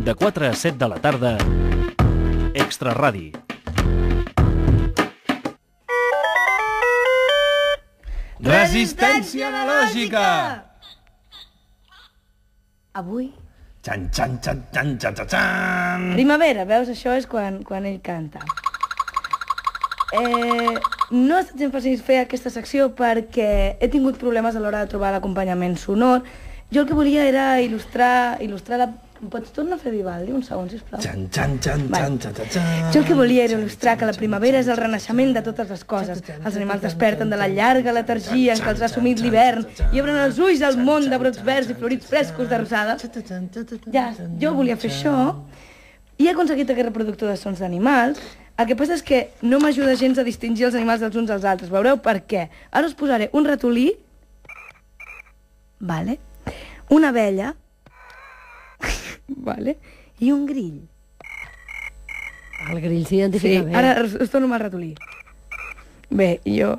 De 4 a 7 de la tarda, Extra Radi. Resistència analògica! Avui... Xan, xan, xan, xan, xan, xan, xan. Primavera, veus? Això és quan ell canta. No ha estat gens fàcil fer aquesta secció perquè he tingut problemes a l'hora de trobar l'acompanyament sonor. Jo el que volia era il·lustrar la... Pots tornar a fer Vivaldi un segon, sisplau? Xan, xan, xan, xan, xan, xan, xan. Jo el que volia era il·lustrar que la primavera és el renaixement de totes les coses. Els animals desperten de la llarga letargia en què els ha assumit l'hivern i obren els ulls al món de brots verds i florits frescos de rosada. Ja, jo volia fer això i he aconseguit aquest reproductor de sons d'animals. El que passa és que no m'ajuda gens a distingir els animals dels uns als altres. Veureu per què. Ara us posaré un ratolí, vale? Una abella, vale? I un grill. El grill s'identifica bé. Ara us torno amb el ratolí. Bé, jo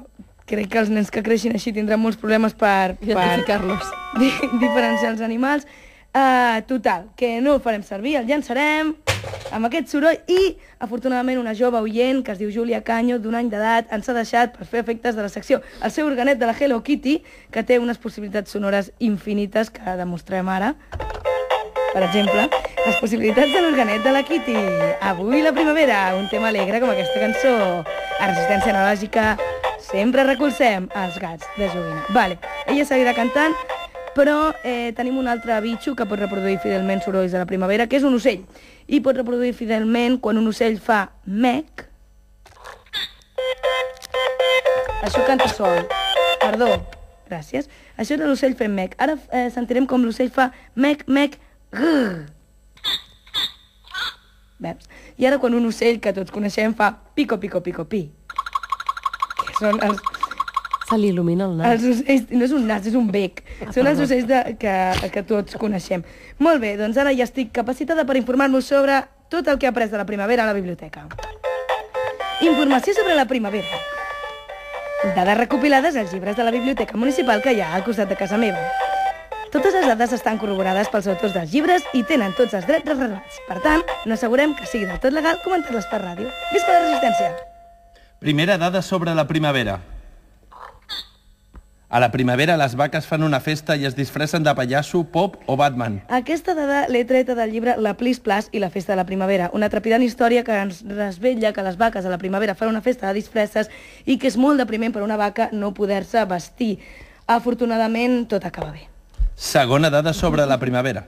crec que els nens que creixin així tindran molts problemes per identificar-los. Diferenciar els animals. Total, que no el farem servir, el llançarem amb aquest soroll i, afortunadament, una jove oient que es diu Júlia Canyo, d'un any d'edat, ens ha deixat per fer efectes de la secció el seu organet de la Hello Kitty, que té unes possibilitats sonores infinites que demostrem ara. Per exemple, les possibilitats de l'organet de la Kitty. Avui la primavera, un tema alegre com aquesta cançó. A Resistència Analògica sempre recolzem els gats de joguina. Vale, ella seguirà cantant, però tenim un altre bitxo que pot reproduir fidelment sorolls de la primavera, que és un ocell. I pot reproduir fidelment quan un ocell fa mec. Això canta sol. Perdó, gràcies. Això era l'ocell fent mec. Ara sentirem com l'ocell fa mec, mec, grrr. Veus? I ara quan un ocell que tots coneixem fa pico, pico, pico, pi. Que són els... Se li il·lumina el nas. Els ocells, no és un nas, és un bec. Són els ocells que tots coneixem. Molt bé, doncs ara ja estic capacitada per informar-vos sobre tot el que he après de la primavera a la biblioteca. Informació sobre la primavera. Dades recopilades als llibres de la biblioteca municipal que hi ha al costat de casa meva. Totes les dades estan corroborades pels autors dels llibres i tenen tots els drets reservats. Per tant, no assegurem que sigui del tot legal comentar-les per ràdio. Visca la resistència! Primera dada sobre la primavera. A la primavera les vaques fan una festa i es disfressen de pallasso, pop o Batman. Aquesta dada l'he treta del llibre La Plis Plas i la festa de la primavera, una trepidant història que ens desvetlla que les vaques a la primavera fan una festa de disfresses i que és molt depriment per una vaca no poder-se vestir. Afortunadament, tot acaba bé. Segona dada sobre la primavera.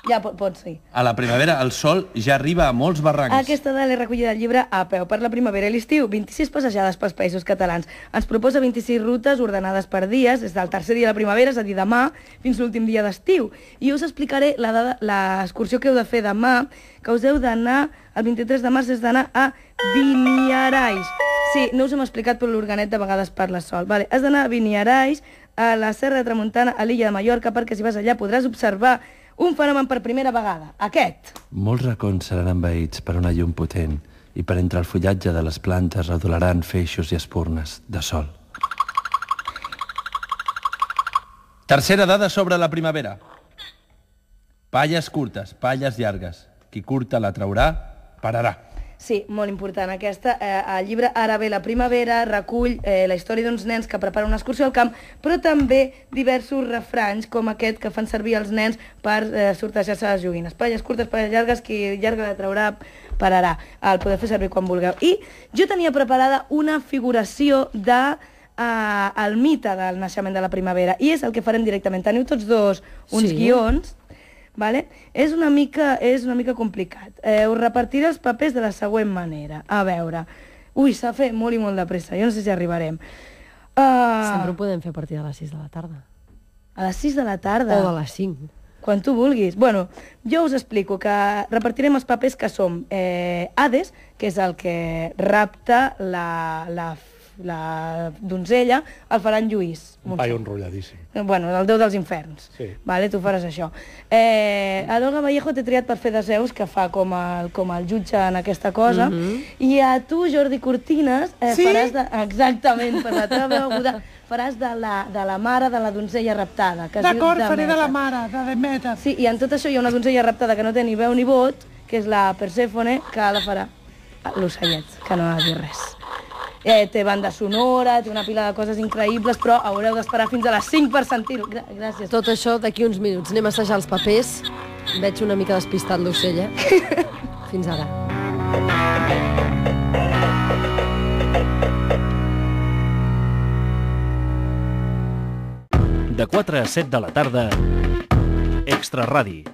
Ja pots dir. A la primavera el sol ja arriba a molts barrancs. Aquesta dada l'he recollida al llibre A peu per la primavera i l'estiu, 26 passejades pels països catalans. Ens proposa 26 rutes ordenades per dies, des del tercer dia de la primavera, és a dir, demà, fins l'últim dia d'estiu. I us explicaré l'excursió que heu de fer demà, que us heu d'anar, el 23 de març, és d'anar a Viniarais. Sí, no us hem explicat, però l'organet de vegades parla sol. Vale, has d'anar a Viniarais, a la Serra de Tramuntana, a l'illa de Mallorca, perquè si vas allà podràs observar un fenomen per primera vegada, aquest. Molts racons seran envaïts per una llum potent i per entre el fullatge de les plantes redolaran feixos i espurnes de sol. Tercera dada sobre la primavera. Palles curtes, palles llargues. Qui curta la traurà, pararà. Sí, molt important aquesta. El llibre Ara ve la primavera recull la història d'uns nens que preparen una excursió al camp, però també diversos refranys com aquest que fan servir els nens per sortejar-se les joguines. Palles curtes, palles llargues, qui llarga la traurà, pararà. El podeu fer servir quan vulgueu. I jo tenia preparada una figuració del mite del naixement de la primavera, i és el que farem directament. Teniu tots dos uns guions. Vale? És una mica complicat. Us repartiré els papers de la següent manera. A veure... Ui, s'ha fet molt i molt de pressa. Jo no sé si arribarem. Sempre ho podem fer a partir de les 6 de la tarda. A les 6 de la tarda? O de les 5. Quan tu vulguis. Bueno, jo us explico que repartirem els papers que som Hades, que és el que rapta la donzella, el farà en Lluís. Un paio enrotlladíssim. Bueno, el déu dels inferns. Sí. Vale, tu faràs això. L'Olga Vallejo t'he triat per fer de Zeus, que fa com el jutge en aquesta cosa, i a tu, Jordi Cortines, faràs de... Exactament, per la teva veu aguda, faràs de la mare de la donzella raptada, que es diu D'acord, faré de la Demeter. mare, de Demeter. Sí, i en tot això hi ha una donzella raptada que no té ni veu ni vot, que és la Persèfone, que la farà l'ocellet, que no ha de dir res. Té banda sonora, té una pila de coses increïbles, però haureu d'esperar fins a les 5 per sentir-ho. Gràcies. Tot això d'aquí uns minuts. Anem a assajar els papers. Veig una mica despistat l'ocell, eh? Fins ara. De 4 a 7 de la tarda, Extra Ràdio.